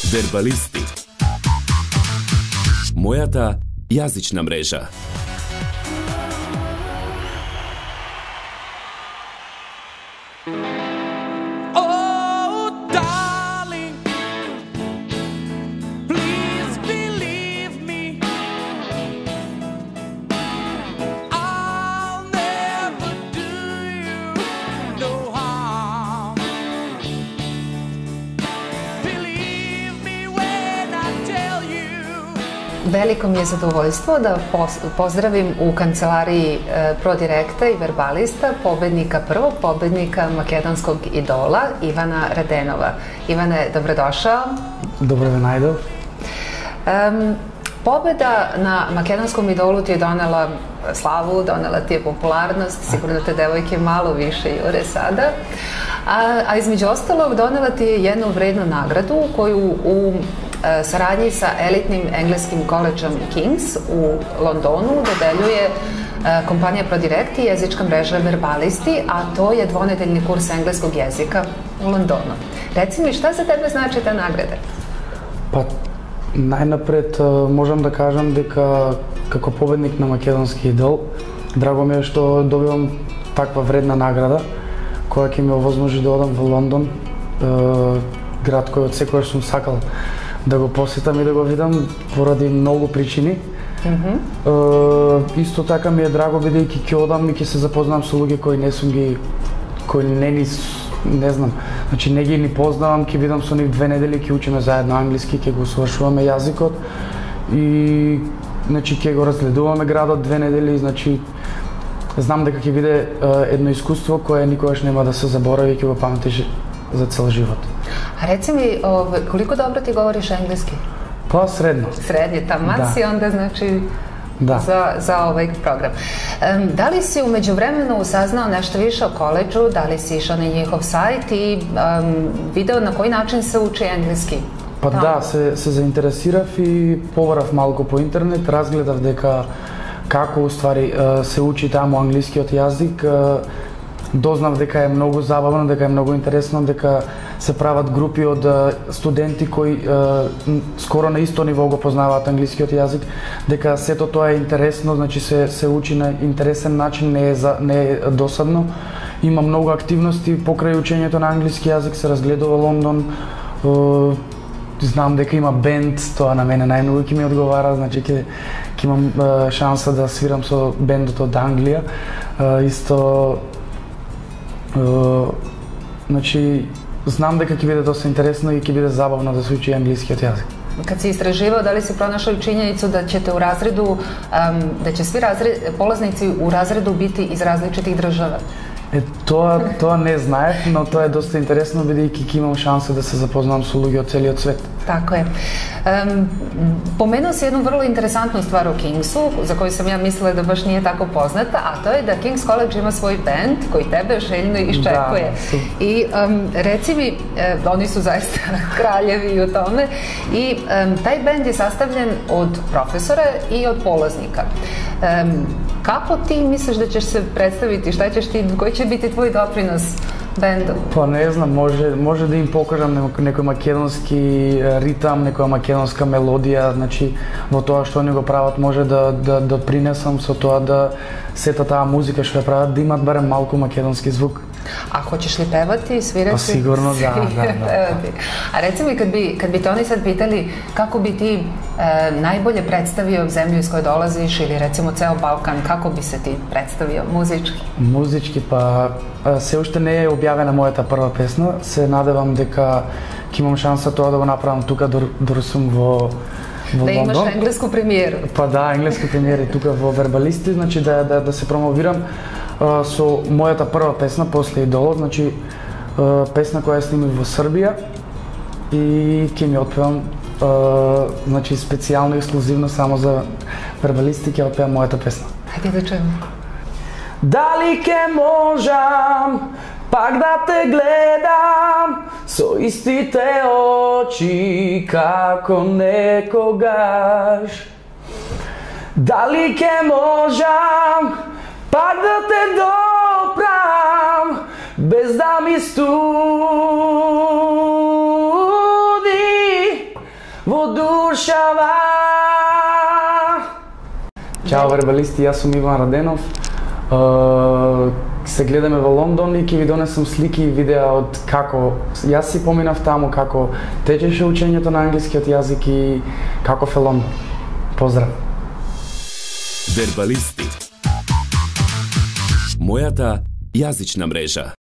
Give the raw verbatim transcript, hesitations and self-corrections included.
Вербалисти. Мојата јазична мрежа. Veliko mi je zadovoljstvo da pozdravim u kancelariji Prodirekta i Verbalista pobednika, prvog pobednika makedonskog idola, Ivana Radenova. Ivane, dobrodošao. Dobro me najdel. Um, pobeda na makedonskom idolu ti je donela slavu, donela ti je popularnost, sigurno te devojke malo više jure sada, a, a između ostalog donela ti je jednu vrednu nagradu koju u saradnji sa elitnim engleskim koledžom King's u Londonu dodeljuje kompanija Prodirect i jezička mreža Verbalisti, a to je dvonedeljni kurs engleskog jezika u Londonu. Reci mi, šta za tebe znači ta nagrada? Pa, најнапред можам да кажам дека како победник на македонски идол, драго ми е што добивам таква вредна награда која ќе ми овозможи да одам во Лондон, град кој од секојаш сум сакал да го посетам и да го видам поради многу причини. Mm-hmm. Uh, исто така ми е драго бидејќи ќе одам и ќе се запознам со луѓе кои не сум ги, кои не ни, не знам, значи не ги ни познавам, ќе бидам со нив две недели, ќе учиме заедно англиски, ќе го усвршуваме јазикот и значи ќе го разгледуваме градот две недели, значи знам дека ќе биде uh, едно искуство кое никогаш нема да се заборави и ќе го паметиш за цел живот. A reci mi, ove, koliko dobro ti govoriš engleski? Pa sredno. Srednje, taman da. si onda znači da. za, za ovaj program. Um, da li si u međuvremenu saznao nešto više o koledžu, da li si išao na njihov sajt i um, video na koji način se uči engleski? Pa da, da се, се заинтересирав и побарав малку по интернет, разгледав дека како уствари се учи таму англискиот јазик, дознав дека е многу забавно, дека е многу интересно, дека се прават групи од студенти кои е, скоро на исто ниво го познаваат англискиот јазик, дека сето тоа е интересно, значи се се учи на интересен начин, не е за, не е досадно. Има многу активности покрај учењето на англиски јазик, се разгледува Лондон. Е, знам дека има бенд, тоа на мене најмногу ќе ми одговара, значи ќе ќе имам е, шанса да свирам со бендот од Англија. Е, исто Uh, значи, знам дека ќе биде доста интересно и ќе биде забавно да се учи англискиот јазик. Kad si istraživao, da li si pronašao činjenicu da ćete u razredu, um, da će svi razred, polaznici u razredu biti iz različitih država? Е, тоа, тоа не знаев, но тоа е доста интересно, бидејќи ќе имам шанса да се запознам со луѓе од целиот свет. Tako je. Um, pomenuo si jednu vrlo interesantnu stvar u Kingsu, za koju sam ja mislila da baš nije tako poznata, a to je da King's College ima svoj band koji tebe željno iščekuje. Da, I um, reci mi, eh, oni su zaista kraljevi u tome, i um, taj band je sastavljen od profesora i od polaznika. Um, kako ti misliš da ćeš se predstaviti, šta ćeš ti, koji će biti tvoj doprinos bendu? Па не знам, може може да им покажам некој македонски ритам, некоја македонска мелодија, значи во тоа што они го прават може да да да принесам со тоа да сета таа музика што ја прават да имат барем малку македонски звук. A hoćeš li pevati, svirati? Pa sigurno da, da, da. A reci mi, kad bi, kad bi te oni sad pitali kako bi ti e, najbolje predstavio zemlju iz koje dolaziš ili recimo ceo Balkan, kako bi se ti predstavio muzički? Muzički, pa се уште не е објавена мојата прва песна, се надевам дека ќе имам шанса тоа да го направам тука дори сум во во да Лондон. Да имаш енглеску премиеру. Па да, енглеска премиера и тука во Вербалисти, значи да да да се промовирам Uh, со мојата прва песна после Идолот, значи uh, песна која снимив во Србија и ќе ми отпевам uh, значи специјално ексклузивно само за Вербалисти ќе отпевам мојата песна. Хајде да чуем. Дали ке можам пак да те гледам со истите очи како некогаш? Дали ке можам пак да те допрам, без да ми студи во душава. Чао вербалисти, јас сум Иван Раденов. Uh, се гледаме во Лондон и ќе ви донесам слики и видеа од како јас си поминав таму, како течеше учењето на англискиот јазик и каков е Лондон. Поздрав! Вербалисти. Мојата јазична мрежа.